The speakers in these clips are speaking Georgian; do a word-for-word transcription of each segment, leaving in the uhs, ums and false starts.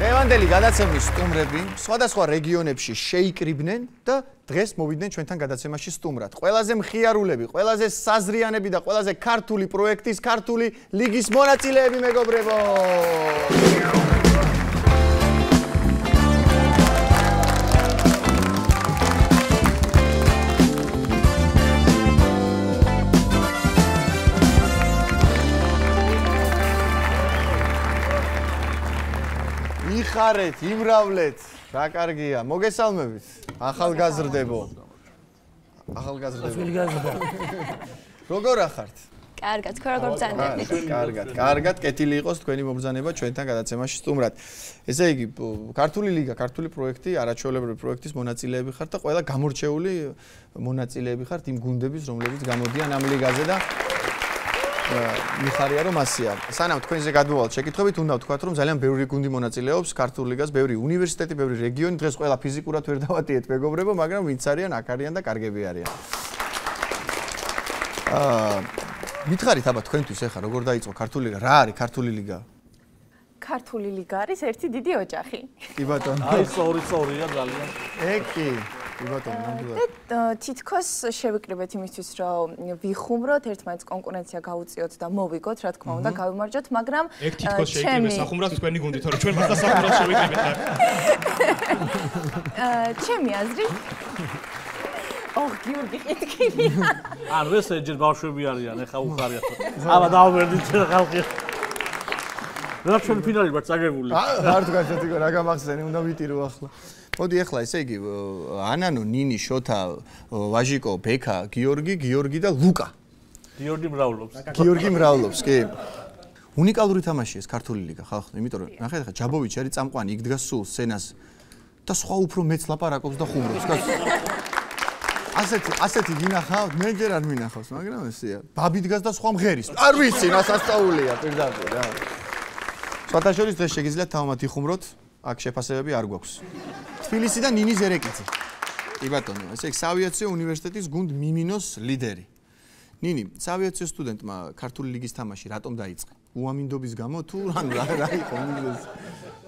დღევანდელი გადაცემის სტუმრები სხვადასხვა რეგიონებში შეიკრიბნენ და დღეს მოვიდნენ ჩვენთან გადაცემაში სტუმრად. ყველაზე მხიარულები, ყველაზე საზრიანები და ყველაზე ქართული პროექტის ქართული ლიგის მონაწილეები მეგობრებო. იხარეთ, იმრავლეთ, რა კარგია, მოგესალმებით, ახალგაზრდებო. ახალგაზრდებო. როგორ ახართ? კარგად, თქვენ როგორ ბრძანებით? კარგად, კარგად, კეთილი იყოს თქვენი მობრძანება ჩვენთან გადაცემაში სტუმრად. ესე იგი, ქართული ლიგა, ქართული პროექტი, არაჩვეულებრივი პროექტის მონაწილეები ხართ და ყველა გამორჩეული მონაწილეები ხართ იმ გუნდების, რომლებიც გამოდიან ამ ლიგაზე და მიხარია რომ ასია. სანამ თქვენზე გადმოვალთ შეკითხვებით, უნდა ვთქვათ, რომ ძალიან ბევრი გუნდი მონაწილეობს ქართულ ლიგას, ბევრი უნივერსიტეტი, ბევრი რეგიონი, დღეს ყველა ფიზიკურად ვერ დავატიეთ მეგობრებო, მაგრამ ვინც არიან, აქ არიან და კარგები არიან. აა მითხარით აბა თქვენთვის ახლა როგორ დაიწყო ქართული ლიგა? რა არის ქართული ლიგა? ქართული ლიგა არის ერთი დიდი ოჯახი. კი ბატონო. აი სწორი სწორია ძალიან. ეკი კი ბატონო, ნამდვილად. და თითქოს შევიკრიბეთ იმისთვის, რომ ვიხუმროთ, ერთმანეთს კონკურენცია გავუწიოთ და მოვიგოთ, რა თქმა უნდა, გავიმარჯვოთ, მაგრამ ეგ თითქოს შეიკრიბეს სახუმრად თქვენი გუნდი, თორე ჩვენ მას სახუმრად შევიკრიბეთ. აა ჩემი აზრით ოხ, გიორგი ყითკინია. ან ეს ჯერ ბავშვები არიან, ეხა უხარიათ. აბა დავვერდით ჩვენ ხალხი. რა ჩვენ ფინალი ვართ წაგებული. არ თქვა შეთიკო რა გამახსენი, უნდა ვიტირო ახლა. მოდი ახლა ესე იგი ანანო, ნინი, შოთა, ვაჟიკო, ბექა, გიორგი, გიორგი და ლუკა. გიორგი მრავლობს. გიორგი მრავლობს, კი. უნიკალური თამაშია ეს ქართული ლიგა ხალხო, იმიტომ რომ ნახეთ ახლა ჯაბოვიჩი არის წამყვანი, იქ დგას სულ სცენას და სხვა უფრო მეც ლაპარაკობს და ხუმრობს, კაცო. ასეთი ასეთი გინახავთ, მე ჯერ არ მინახავს, მაგრამ ესეა. ბაბი დგას და სხვა მღერის. არ ვიცი, რა სასწაულია პირდაპირ რა. სხვათა შორის დღეს შეგიძლიათ თავმად იხუმროთ, აქ შეფასებები არ გვაქვს. თბილისი და ნინი ზერეკიძე. კი ბატონო, ესე იგი საავიაციო უნივერსიტეტის გუნდ მიმინოს ლიდერი. ნინი, საავიაციო სტუდენტმა ქართული ლიგის თამაში რატომ დაიწყე? უამინდობის გამო თუ ანუ რა რა იყო მიზეზი?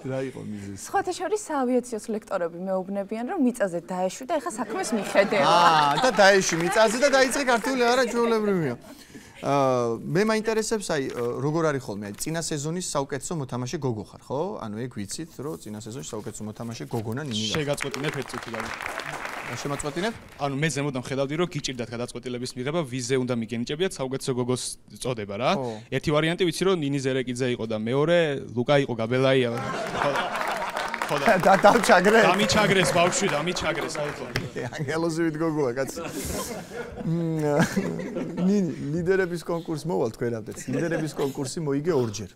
რა იყო მიზეზი? სხვათა შორის საავიაციოს ლექტორები მეუბნებიან, რომ მიწაზე დაეშვი და ეხა საქმეს მიხედევა. აა, და დაეშვი მიწაზე და დაიწყე ქართული არაჩვეულებრივია. აა მე მაინტერესებს აი როგორ არის ხოლმე აი წინა სეზონის საუკეთესო მოთამაშე გოგო ხარ ხო? ანუ ეგ ვიცით რომ წინა სეზონში საუკეთესო მოთამაშე გოგონა ნინი გახდა. შეგაწყვეტინებ ერთ წუთი და შემაწყვეტინებ? ანუ მე ზემოდან ხედავდი რომ გიჭირდათ გადაწყვეტილების მიღება ვიზე უნდა მიგენიჭებიათ საუკეთესო გოგოს წოდება რა. ერთი ვარიანტი ვიცი რომ ნინი ზერეკიძე იყო და მეორე ლუკა იყო გაბელაია. და დავჩაგრე. დამიჩაგრეს ბავშვი, დამიჩაგრეს აუხო. ანგელოზივით გოგოა კაცი. ნინი ლიდერების კონკურსი მოვალ თქვენამდეც. ლიდერების კონკურსი მოიგე ორჯერ.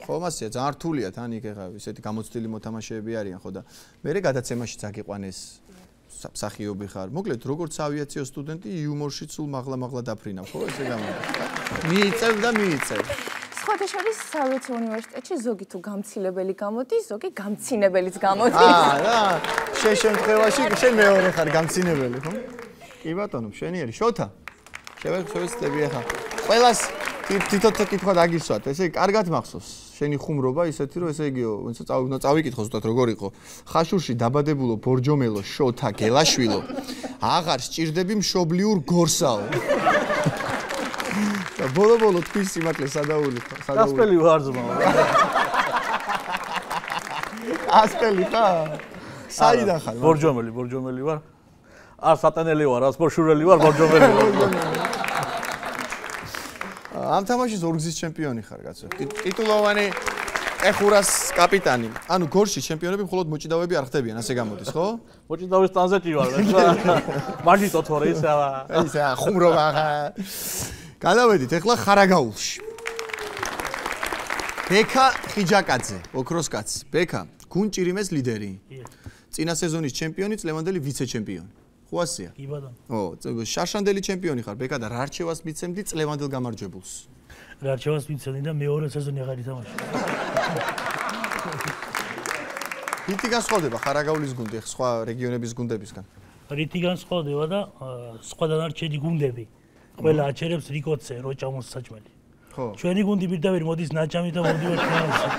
ხო, მასია ძალიან რთულია თან იქ ახლა ისეთი გამოცდილი მოთამაშეები არიან ხო და მე გადაცემაშიც აგიყვანეს მსახიობი ხარ. მოკლედ როგორც ავიაციო სტუდენტი იუმორში სულ მაღლა-მაღლა დაფრინავ, ხო ესე გამოდის. მიიწევ და მიიწევ. სხვათა შორის საავიაციო უნივერსიტეტში ზოგი თუ გამცილებელი გამოდის, ზოგი გამცინებელიც გამოდის. აა, რა, შენ შემთხვევაში შენ მეორე ხარ გამცინებელი, ხო? კი ბატონო, შენიერი შოთა. შევეცდები ახლა. ყველას თვითონ კითხვა დაგისვათ, ესე იგი, კარგად მახსოვს. შენი ხუმრობა ისეთი რომ ესე იგიო, ვინც უნდა წავიკითხო ზუსტად როგორ იყო. ხაშურში დაბადებულო ბორჯომელო შოთა გელაშვილო. აღარ სჭირდები მშობლიურ გორსაო. და ბოლო-ბოლო თქვის სიმართლე სადაული ხარ, სადაული. ასპელი ვარ ძმა. ასპელი ხარ? საიდან ხარ? ბორჯომელი, ბორჯომელი ვარ. არ სატანელი ვარ, არ სპორშურელი ვარ, ბორჯომელი ვარ. ამ თამაშის ორგზის ჩემპიონი ხარ, კაცო. ტიტულოვანი ეხურას კაპიტანი. ანუ გორში ჩემპიონები მხოლოდ მოჭიდავეები არ ხდებიან, ასე გამოდის, ხო? მოჭიდავის ტანზეტი ვარ, მაგიტო თორე ისაა. ისაა ხუმრობა ხა. გადავედით ახლა ხარაგაულში. ბექა ხიჯაკაძე, ოქროს კაცი. ბექა, გუნჭირიმეს ლიდერი. წინა სეზონის ჩემპიონი, წლევანდელი ვიცე-ჩემპიონი. ხო ასია? კი ბატონო. ო, შარშანდელი ჩემპიონი ხარ, ბექა და რა რჩევას მიცემდი წლევანდელ გამარჯვებულს? რა რჩევას მიცემდი და მეორე სეზონი აღარ ითამაშე. რითი განსხვავდება ხარაგაულის გუნდი სხვა რეგიონების გუნდებისგან? რითი განსხვავდება და სხვა დანარჩენი გუნდები ყველა აჩერებს რიკოცე, როჭამოს საჭმელი. ხო. ჩვენი გუნდი პირდაპირ მოდის ნაჭამი და მოვდივართ ფინალში.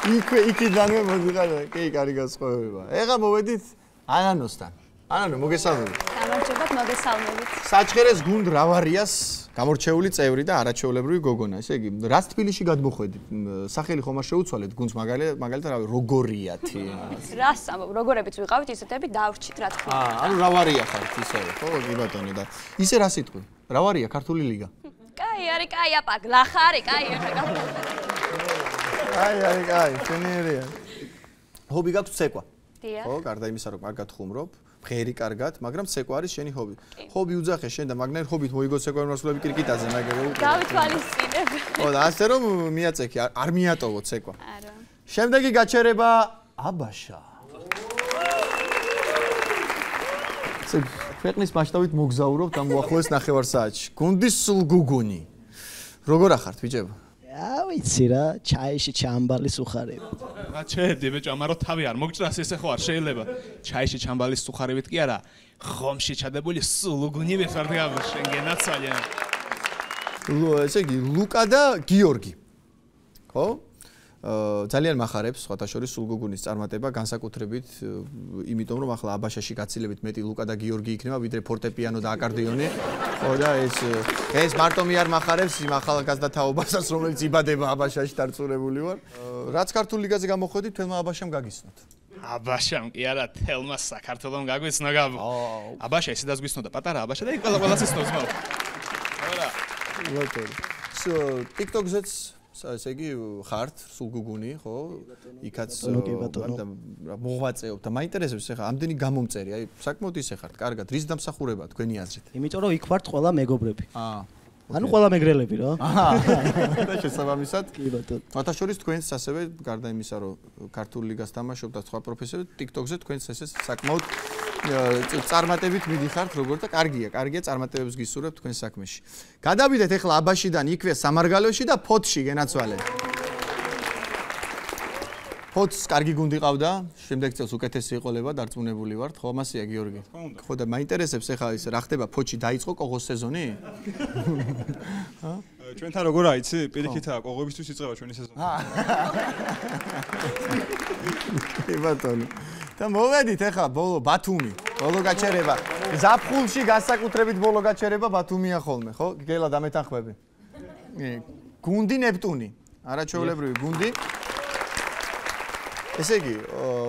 იქვე იქიდანვე მოდიხარ და კი კარი გასხოვება. ეხლა მოვედით ანანოსთან. ანანო მოგესალმებით. გამარჯობათ, მოგესალმებით. საჩხერეს გუნდ რავარიას გამორჩეული წევრი და არაჩვეულებრივი გოგონა. ესე იგი, რას თბილისში გადმოხვედით? სახელი ხომ არ შეუცვალეთ გუნდს მაგალითად, მაგალითად რავი, როგორიათი. რას ამბობ, როგორებიც ვიყავით, ისეთები დავრჩით, რა თქმა უნდა. აა, ანუ რავარია ხართ ისე, ხო, კი ბატონო და ისე რა სიტყვი? რავარია ქართული ლიგა. კაი, არის, კაი, აპა, გლახარი, კაი, ეხლა გა. აი, აი, აი, შენიერია. ჰობი გაქვს ცეკვა. დიახ. ხო, გარდა იმისა, რომ კარგად ხუმრობ, ფერი კარგად, მაგრამ ცეკვა არის შენი ჰობი. ჰობი უძახე შენ და მაგნაირ ჰობით მოიგო ცეკვა მოსვლები კრიკიტაზე, მაგრამ გავითვალისწინებ. ხო, და ასე რომ მიაწექი, არ მიატოვო ცეკვა. არა. შემდეგი გაჩერება აბაშა. ქვეყნის მასშტაბით მოგზაურობთ ამ უახლოეს ნახევარ საათში. გუნდის სულგუგუნი. როგორ ახართ, ბიჭებო? რა ვიცი რა, ჩაიში ჩამბალის უხარები. რა ჩედი ბეჭო, ამარო თავი არ მოგჭრას ესე ხო არ შეიძლება. ჩაიში ჩამბალის უხარებით კი არა, ხომში ჩადებული სულუგუნი ვეხარ და შენ გენაცალია. ესე იგი, ლუკა და გიორგი. ხო? ძალიან מחარებს სხვათა შორის სულგუგუნის წარმატება განსაკუთრებით იმიტომ რომ ახლა აბაშაში გაცილებით მეტი ლუკა და გიორგი იქნება ვიდრე ფორტეპიანო და აკორდეონი ხო და ეს ეს მარტო მე არ מחარებს იმ ახალგაზრდა თაობასაც რომელიც იბადება აბაშაში დარწმუნებული ვარ რაც ქართულ ლიგაზე გამოხვედით თელმა აბაშამ გაგიცნოთ აბაშამ კი არა თელმა საქართველოს გაგვიცნო გაბო აბაშა ისე დაგგვიცნოდა პატარა აბაშა და იქ ყველა ყველას ისნობს მაო არა ლოტო TikTok-ზეც ესე იგი ხართ სულგუგუნი ხო იქაც მოღვაწეობ და მაინტერესებს ეხლა ამდენი გამომწერი აი საკმაოდ ისე ხართ კარგად რის დამსახურება თქვენი აზრით იმიტომ რომ იქ ვართ ყველა მეგობრები აა ანუ ყველა მეგრელები რა აჰა და შესაბამისად კი ბატონო მათ შორის თქვენს ასევე გარდა იმისა რომ ქართულ ლიგას თამაშობ და სხვა პროფესიები TikTok-ზე თქვენს ესე საკმაოდ წარმატებით მიდიხართ როგორ და კარგია კარგია წარმატებებს გისურვებთ თქვენ საქმეში გადავიდეთ ეხლა აბაშიდან იქვე სამარგალოში და ფოთში გენაცვალეთ ფოთს კარგი გუნდი ყავდა შემდეგ წელს უკეთესი იყოლება დარწმუნებული ვართ ხო ამასია გიორგი ხო და მაინტერესებს ეხლა ის რა ხდება ფოთში დაიწყო კოღოს სეზონი ჰა ჩვენთან როგორ აიცი პირიქითაა კოღოებისთვის იწყება ჩვენი სეზონი კი ბატონო და მოვედით ეხლა ბოლო ბათუმი ბოლო გაჩერება ზაფხულში განსაკუთრებით ბოლო გაჩერება ბათუმია ხოლმე ხო გელა დამეთანხმები გუნდი ნეპტუნი არაჩვეულებრივი გუნდი ესე იგი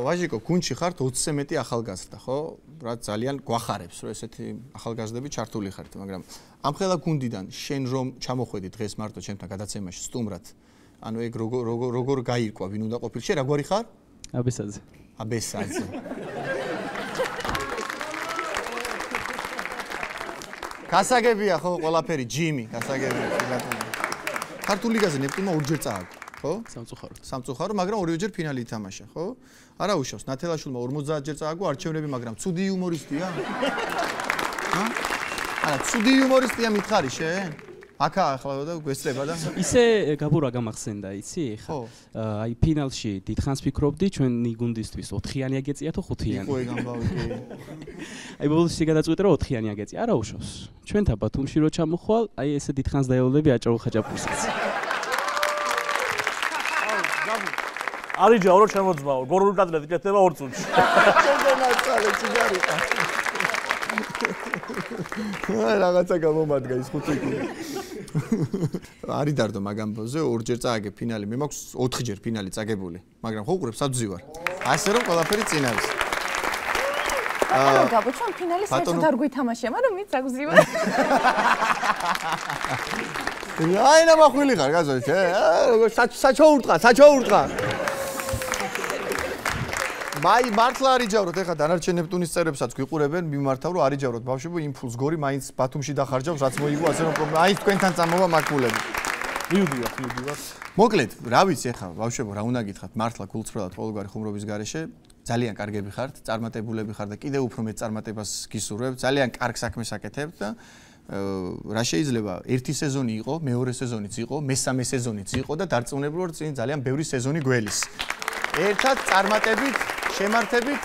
ვაჟიკო გუნდში ხართ ოცზე მეტი ახალგაზრდა ხო რა ძალიან გვახარებს რომ ესეთი ახალგაზრდები ჩართული ხართ მაგრამ ამ ხელა გუნდიდან შენ რომ ჩამოხვედი დღეს მარტო ჩემთან გადაცემაში სტუმრად ანუ ეგ როგორ როგორ როგორ გაირკვა ვინ უნდა ყოფილ შენ რაგვარი ხარ აბესაძე აბესაძე გასაგებია ხო ყველაფერი ჯიმი გასაგებია ბატონო ქართულ ლიგაზე ნეპტუნმა ორჯერ წააგო ხო სამწუხარო სამწუხარო მაგრამ ორივეჯერ ფინალი ითამაშა ხო არა უშავს ნათელაშვილმა ორმოცდაათ ჯერ წააგო არჩევნები მაგრამ ცუდი იუმორისტია ჰა არა ცუდი იუმორისტია მითხარი შენ აკა ახლა და გვესწრება და ისე გაბურა გამახსენდა იცი ხა აი ფინალში დიდხანს ფიქრობდი ჩვენი გუნდისთვის ოთხიანი აგეწია თუ ხუთიანი იყო ეგ ამბავი კი აი ბოლოს შეგადაწყვეტე რომ ოთხიანი აგეწია არა უშავს ჩვენთან ბათუმში რო ჩამოხვალ აი ესე დიდხანს დაევლები აჭარო ხაჭაპურსაც არის ჯავრო შემოძმაო გორული კატლეტი კეთდება ორ წუთში შეგენაცვალე ციგარიტა აი რაღაცა გამომადგა ის ხუთი კუ არის დარდო მაგამბოზე ორჯერ წააგე ფინალი მე მაქვს ოთხჯერ ფინალი წაგებული მაგრამ ხო უყურებ საბძი ვარ ასე რომ ყველაფერი წინ არის აა გაბო ჩვენ ფინალის საერთოდ არ გვითამაშია მაგრამ მით საბძი ვარ აი ნამახვილი ხარ გაზო შე როგორ საჩოურტყა საჩოურტყა მაი მართლა არიჯავროთ ეხა დანარჩენ ნეპტუნის წევრებსაც გვიყურებენ მიმართავ რომ არიჯავროთ ბავშვებო იმპულს გორი მაინც ბათუმში დახარჯავს რაც მოიგო ასე რომ პრობლემა აი თქვენთან წამოვა მაკულები მიუდივართ მიუდივართ მოკლედ რა ვიცი ეხა ბავშვებო რა უნდა გითხრათ მართლა გულწრფელად ყოველგვარი ხუმრობის გარეშე ძალიან კარგები ხართ წარმატებულები ხართ და კიდევ უფრო მეტ წარმატებას გისურვებთ ძალიან კარგ საქმეს აკეთებთ და რა შეიძლება ერთი სეზონი იყო მეორე სეზონიც იყო მესამე სეზონიც იყო და დარწმუნებული ვარ წინ ძალიან ბევრი სეზონი გველის ერთად წარმატებით შემართებით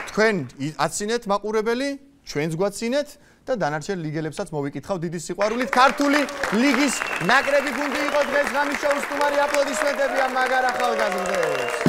თქვენ აცინეთ მაყურებელი ჩვენს გვაცინეთ და დანარჩენ ლიგელებსაც მოვიკითხავ დიდი სიყვარულით ქართული ლიგის ნაკრები გუნდი იყო დღეს ღამის შოუს სტუმარი აპლოდისმენტები ამ მაგარ ახალგაზრდებს